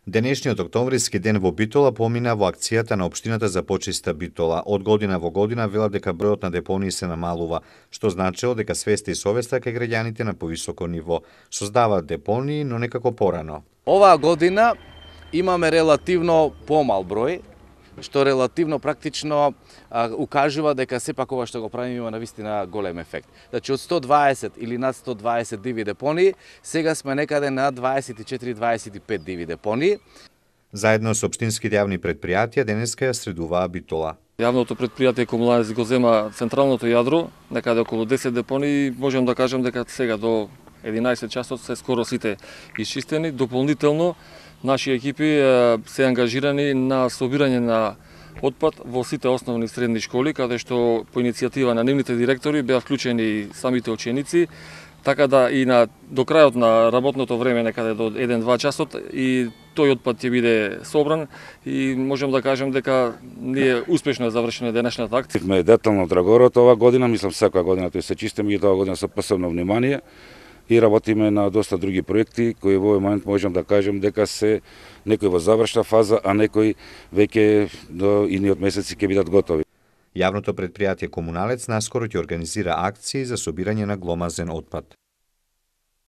Денешниот октомвриски ден во Битола помина во акцијата на општината за почиста Битола. Од година во година велат дека бројот на депонии се намалува, што значило дека свеста и совеста кај граѓаните на повисоко ниво. Создаваат депонии, но некако порано. Оваа година имаме релативно помал број, што релативно практично укажува дека сепак ова што го правиме има навистина голем ефект. Значи од 120 или над 120 диви депонии, сега сме некаде на 24-25 диви депонии. Заедно со општинските јавни предпријатија денеска ја средуваа Битола. Јавното предпријатие Комуналец го зема централното јадро, некаде околу 10 депонии, можам да кажам дека сега до 11 часот се скоро сите исчистени. Дополнително наши екипи се ангажирани на собирање на отпад во сите основни и средни школи, каде што по иницијатива на нивните директори беа вклучени самите ученици, така да и до крајот на работното време, некаде до 1-2 часот, и тој отпад ќе биде собран и можам да кажем дека ние успешно завршена денешната акција. Ме детално Драгорот оваа година, мислам секоја година тој се чисти, меѓутоа година со посебно внимание и работиме на доста други проекти кои во овој момент можам да кажем дека се некои во завршна фаза, а некои веќе до идниот месеци ќе бидат готови. Јавното предпријатие Комуналец наскоро ќе организира акции за собирање на гломазен отпад.